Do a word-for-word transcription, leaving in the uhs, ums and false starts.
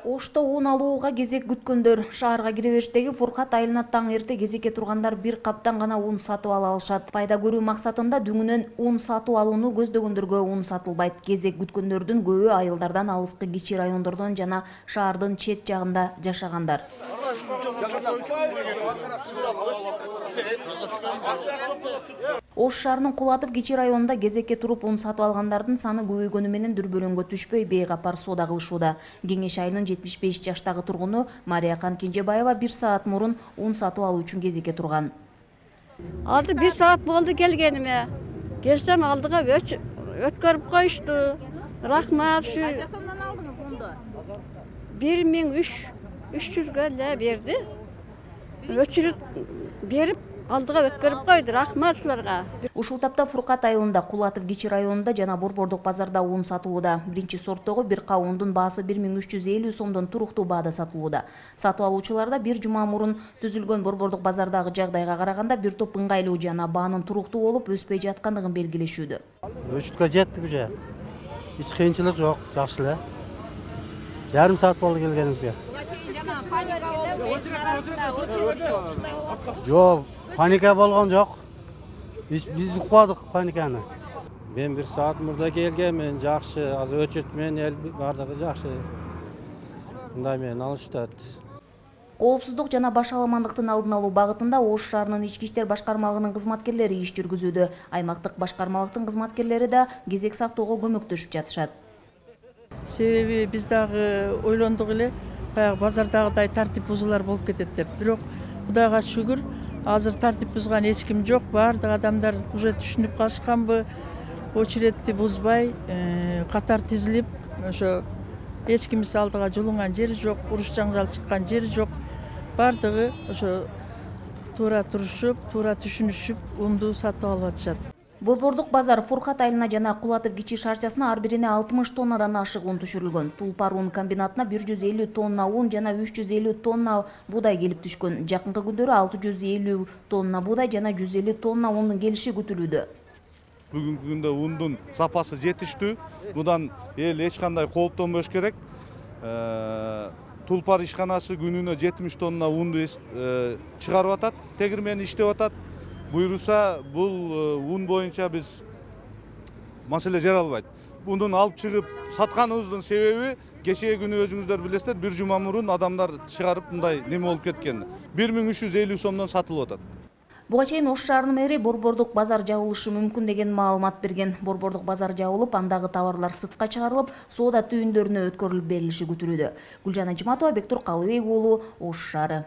Ошто ун алууга кезек күткөндөр шаарга кире бериштеги Фуркат айылына таң эрте кезекке тургандар бир каптан гана ун сатып ала алышат. Пайда көрүү максатында дүңүнөн ун сатып алууну көздөгөндөргө ун сатылбайт. Кезек күткөндөрдүн көбү айылдардан алыскы кичи райондордон жана шаардын чет жагында жашагандар. Ош шаарынын Кулатов кичи районунда кезекке туруп ун сатып алгандардын саны көбөйгөнү менен дүрбөлөңгө түшпөй бейгапар соода кылышууда. Кеңеш айылынын жетимиш беш жаштагы тургуну Мариякан Кенжебаева бир саат мурун ун сатып алуу үчүн кезекке турган. Алды бир саат болду келгениме. Келсем алдыга өткөрүп коюшту. Рахмат. Канча сомдон алдыңыз унду? бир миң үч жүзгө эле берди. Өчүрүп берип алдыга өткөрүп койду. Рахмат силерге. Ушул тапта Фуркат айылында, Кулатов кичи районунда жана Борбордук базарда ун сатылууда. Биринчи сорттогу бир кап ундун баасы бир миң үч жүз элүү сомдон туруктуу баада сатылууда. Сатып алуучуларда бир жума мурун түзүлгөн Борбордук базардагы жагдайга караганда бир топ ыңгайлуу жана баанын туруктуу болуп өспөй жаткандыгын белгилешүүдө. Өчүткө жеттик уже. Эч кыйынчылык жок, жакшы эле. Жарым саат болду келгенибизге. Жок, паника болгон жок. Биз укпадык паниканы. Мен бир саат мурда келгенмин, жакшы. Азыр өчөт менен эл бардыгы жакшы. Мындай менен алышат. Коопсуздук жана баш аламандыктын алдын алуу багытында Ош шаарынын ички иштер башкармалыгынын кызматкерлери иш жүргүзүүдө. Аймактык башкармалыктын кызматкерлери да кезек сактоого көмөктөшүп жатышат. Себеби биз дагы ойлондук эле, баягы базардагыдай тартип бузуулар болуп кетет деп. Бирок Кудайга шүгүр, азыр тартип бузган эч ким жок. Бардык адамдар уже түшүнүп калышканбы, очередти бузбай, катар тизилип, ошо эч кимис алдыга жулунган жери жок, уруш жаңжал чыккан жери жок. Бардыгы ошо туура турушуп, туура түшүнүшүп, унду сатып алып атышат. Борбордук базар Фуркат айылына жана Кулатов кичи шаарчасына ар бирине алтымыш тоннадан ашык ун түшүрүлгөн. Тулпар ун комбинатына бир жүз элүү тонна ун жана үч жүз элүү тонна буудай келип түшкөн. Жакынкы күндөрү алты жүз элүү тонна буудай жана жүз элүү тонна ундун келиши күтүлүүдө. Бүгүнкү күндө ундун сапасы жетиштүү. Будан эл эч кандай кооптонбош керек. Тулпар ишканасы күнүнө жетимиш тонна унду чыгарып атат, тегирмени иштеп атат. Буйруса бул ун боюнча биз маселе жаралбайт. Бундун алып чыгып сатканыбыздын себеби кечээ күнү өзүңүздөр билесиздер, бир жума мурун адамдар чыгарып мындай неме болуп кеткен. бир миң үч жүз элүү сомдон сатылып атат. Буга чейин Ош шаарынын мэри Борбордук базар жабылышы мүмкүн деген маалымат берген. Борбордук базар жабылып, андагы товарлар сыртка чыгарылып, соода түйүндөрүнө өткөрүлүп берилиши күтүлүүдө. Гүлжан Ажиматова, Бектур Калыбек уулу, Ош шаары.